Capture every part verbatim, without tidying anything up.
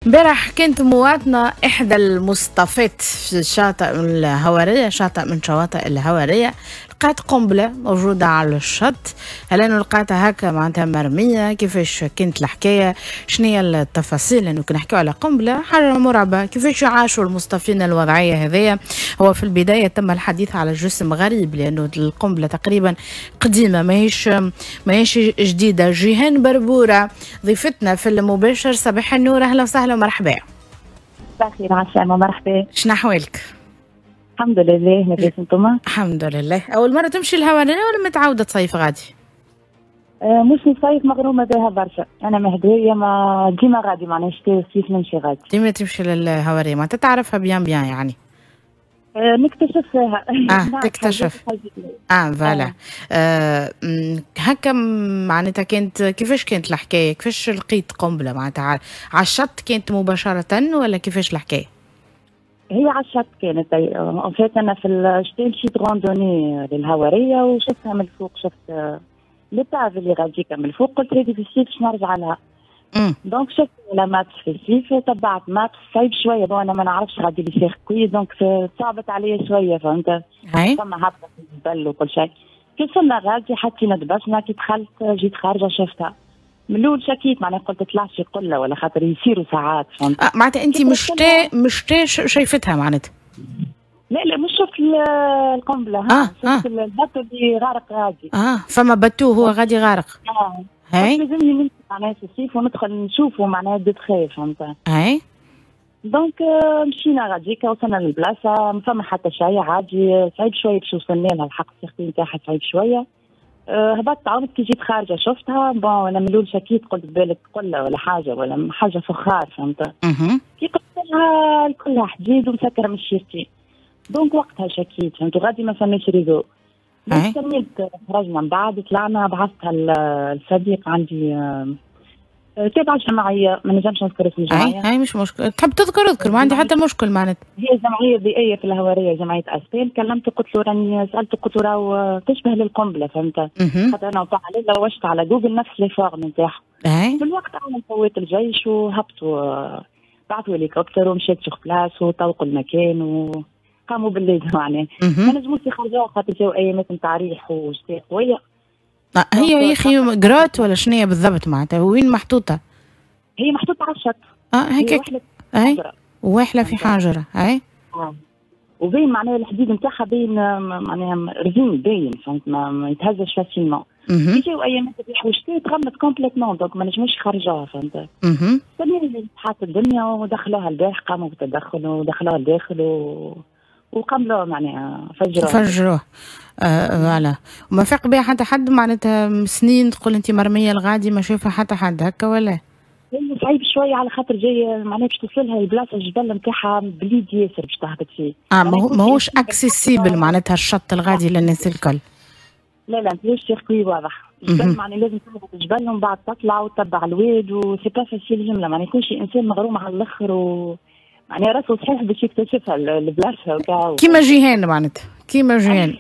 امبارح كانت مواطنة إحدى المصطفات في شاطئ الهوارية، شاطئ من شواطئ الهوارية، لقات قنبلة موجودة على الشط. هل أنه لقاتها هكا معناتها مرمية؟ كيفاش كانت الحكاية؟ شنو هي التفاصيل؟ لأنه كي نحكيو على قنبلة حاجة مرعبة، كيفاش عاشوا المصطفين الوضعية هذيا؟ هو في البداية تم الحديث على جسم غريب لأنه القنبلة تقريبا قديمة، ماهيش ماهيش جديدة. جيهان بربورة ضيفتنا في المباشر، صباح النور، أهلا وسهلا ومرحبا. صباح الخير، عسلامة، مرحبا. شنو أحوالك؟ الحمد لله، لاباس انتم؟ الحمد لله. أول مرة تمشي الهوارية ولا متعودة تصيف غادي؟ آه مش نصيف، مغرومة بها برشا، أنا مهدية ما ديما غادي، معناها شتاء وصيف نمشي غادي. ديما تمشي للهوارية، معناتها تعرفها bien bien يعني. آه نكتشف فيها. اه تكتشف. اه voilà. آه هكا معناتها كانت كيفاش كانت الحكاية؟ كيفاش لقيت قنبلة معناتها على الشط؟ كانت مباشرة ولا كيفاش الحكاية؟ هي على الشط كانت. en fait انا في الشتاء مشيت randonnée للهواريه وشفتها من الفوق، شفت l'épave اللي غاديكا من الفوق، قلت هذه في الصيف باش نرجع لها. donc شفت la map في الصيف، تبعت map صعيب شويه، bon انا ما نعرفش غادي les circuits، donc صعبت عليا شويه، فهمت؟ فما هبطه في الجبل وكل شيء. كي وصلنا غادي حطينا دبشنا، كي دخلت جيت خارجه شفتها. من الاول شكيت، معناها قلت طلع شي قلة ولا خاطر يصيروا ساعات، فهمت؟ آه معناتها انت مش تا مش تا شايفتها معناتها؟ لا لا، مش شفت القنبلة، ها آه شفت آه. ال bateau اللي غارق غادي. اه فما bateau هو غادي غارق. اه هاي لازمني نمشي معناها في الصيف وندخل نشوفه معناها de près، فهمت؟ هاي donc مشينا غاديكا، وصلنا للبلاصه ما فما حتى شيء عادي، صعيب شوية باش وصلنا لها، الحق ال circuit نتاعها صعيب شوية. هبطت عاودت كي جيت خارجه شفتها. bon انا من الاول شكيت، قلت بالك قلة ولا حاجة ولا حاجة فخار، فهمت؟ كي قلت لها كلها حديد ومسكره من الشيرتين، donc وقتها شكيت، فهمت؟ وغادي ما فماش réseau. كملت خرجنا من بعد طلعنا، بعثتها لصديق عندي تابعة جمعية، ما نجمش نذكر اسم الجمعية. اي مش مشكل، تحب تذكر اذكر، ما عندي حتى مشكل معناتها. هي جمعية بيئية في الهوارية، جمعية أسبان. كلمته قلت له راني سألته، قلت له راهو تشبه للقنبلة، فهمت؟ خاطر أنا وقع عليه لوجت على جوجل نفس les formes نتاعها. في الوقت عمل قوات الجيش وهبطوا، بعثوا هليكوبتر ومشيت sur place وطوقوا المكان وقاموا باللازم معناها. ما نجموش يخرجوها خاطر جاو ايامات نتاع ريح وشتاء قوية. هي يا اخي grotte ولا شنو هي بالضبط معناتها؟ وين محطوطة؟ هي محطوطة على الشط. اه هيك اي واحله في حجره اي. اه وبين معناها الحديد نتاعها باين، معناها رزين باين، فهمت؟ ما, ما يتهزش facilement. كي جاو ايامات الريح والشتاء تغمت complètement، donc ما نجموش يخرجوها، فهمت؟ اها حاط الدنيا ودخلوها البارح، قاموا بالتدخل ودخلوها الداخل و وقملوه معناها فجروه. فجروه آه voilà. وما فاق بها حتى حد معناتها سنين، تقول انت مرمية الغادي ما شافها حتى حد هكا ولا؟ صعيب شوية على خاطر جاي معناها باش توصلها البلاصة الجبل نتاعها بليد ياسر باش تهبط فيه. اه ماهوش accessible معناتها الشط الغادي للناس الكل. لا لا، ماهوش circuit واضح. الجبل معناها لازم تهبط الجبل ومن بعد تطلع وتتبع الواد و c'est pas facile جملة، معناها يكون شي انسان مغروم على الاخر و معناها راسه صحيح باش يكتشفها البلاصة. كيما جيهان معناتها، كيما جيهان.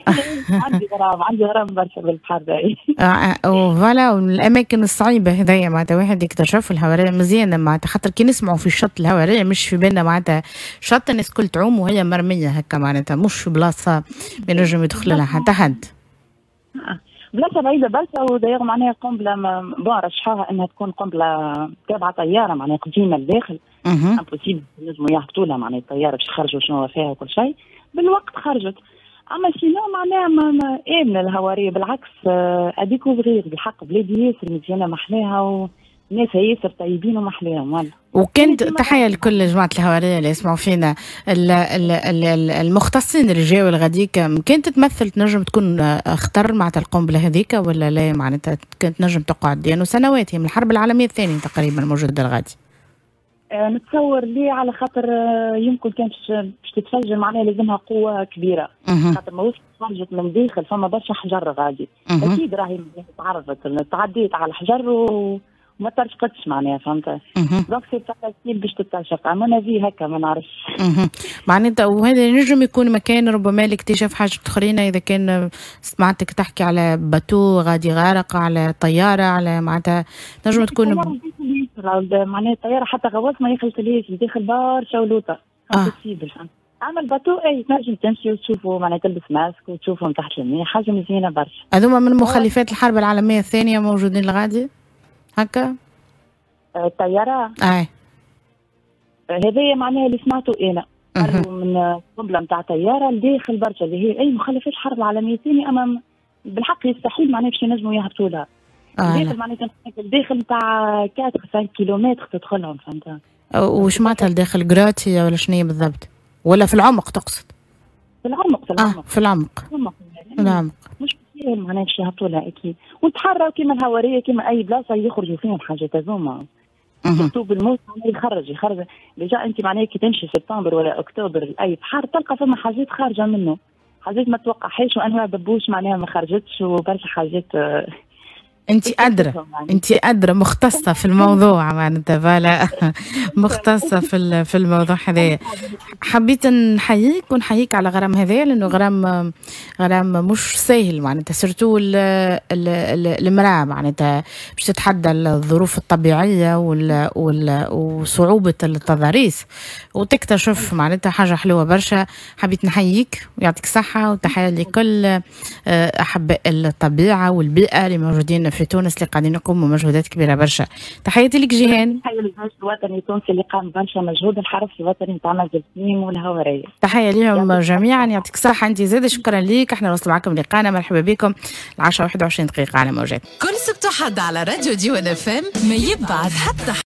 عندي غرام، عندي غرام برشا بالبحر. voilà، والاماكن الصعيبه هذيا معناتها واحد يكتشف الهواريه مزيانه معناتها، خاطر كي نسمعوا في الشط الهواريه مش في بالنا معناتها شط الناس الكل تعوم وهي مرمية هكا، معناتها مش في بلاصة ما ينجم يدخل لها حتى حد. بلاصة بعيدة برشا، و d'ailleurs معناها قنبلة bon رشحوها انها تكون قنبلة تابعه طيارة معناها قديمة لداخل، impossible نجموا يهبطوا لها معناها الطيارة باش يخرجوا شنو فيها وكل شيء. بالوقت خرجت، اما sinon معناها ما امنه الهواريه بالعكس، à découvrir بالحق، بلادي ياسر مزيانه محلاها وناس ياسر طيبين ومحلاهم والله. وكانت تحية لكل جماعة الهوارية اللي يسمعوا فينا، المختصين اللي جاوا الغاديك، كانت تمثل تنجم تكون خطر معناتها القنبلة هذيك ولا لا؟ معناتها كانت تنجم تقعد لأنه يعني سنوات هي من الحرب العالمية الثانية تقريبا موجودة الغادي. أه نتصور ليه، على خاطر يمكن كان باش تتفجر معناها لازمها قوة كبيرة، خاطر ما وصلت خرجت من داخل فما برشا حجر غادي، أكيد راهي تعرضت تعديت على الحجر و وما ترشقتش معناها، فهمت؟ donc c'est facile باش تترشق، اما انا في هكا ما نعرفش. معناتها وهذا ينجم يكون مكان ربما لاكتشاف حاجة اخرين، اذا كان سمعتك تحكي على bateau غادي غارق، على طيارة، على معناتها نجم تكون معناها الطيارة حتى غواص ما يخلطلهاش، داخل برشا ولوطه impossible. اما ال bateau اي تنجم تمشي وتشوفوا، معناها تلبس ماسك وتشوفهم تحت الماء، حاجة مزيانه برشا. هذوما من مخلفات الحرب العالمية الثانية موجودين الغادي هكا؟ الطيارة؟ اي هذايا معناها اللي سمعته انا من قنبلة نتاع طيارة لداخل برشا، اللي هي اي مخلفات الحرب العالمية الثانيه، اما بالحق يستحيل معناها باش ينجموا يهبطوا لها. آه داخل معناها الداخل نتاع أربعة خمسة كيلومتر تدخلهم، فهمت؟ وش معناتها الداخل grotte ولا شنو بالضبط؟ ولا في العمق تقصد؟ في العمق في العمق. آه في العمق. في العمق. في العمق. مش ساهل معناها باش يهبطوا لها اكيد، وتحروا كيما الهواريه كيما اي بلاصة يخرجوا فيهم حاجات هذوما. surtout بالموت يخرج يخرج déjà انت معناها كي تمشي سبتمبر ولا اكتوبر لاي بحر تلقى فما حاجات خارجه منه، حاجات ما توقعهاش وانواع ببوش معناها ما خرجتش وبرشا حاجات. انت ادرى، انت ادرى مختصة في الموضوع معناتها، voilà مختصة في في الموضوع هذايا. حبيت نحييك ونحييك على غرام هذايا، لانه غرام غرام مش ساهل معناتها، surtout المراة معناتها باش تتحدى الظروف الطبيعية وال وال وصعوبة التضاريس وتكتشف معناتها حاجة حلوة برشا. حبيت نحييك ويعطيك الصحه، وتحية لكل احباء الطبيعة والبيئة اللي موجودين في تونس اللي قاعدين يقوموا مجهودات كبيرة برشا. تحياتي لك جيهان. تحية للجيش الوطني التونسي اللي قام برشا مجهود، الحرس الوطني نتاع منزل تميم والهواريه، تحية لهم جميعا. يعطيك الصحة انت زاد، شكرا لك. احنا نوصل معكم لقانا، مرحبا بكم العشرة واحد وعشرين دقيقة على موجات كل سبت وحد على راديو ديوان اف ام، ما يبعد حتى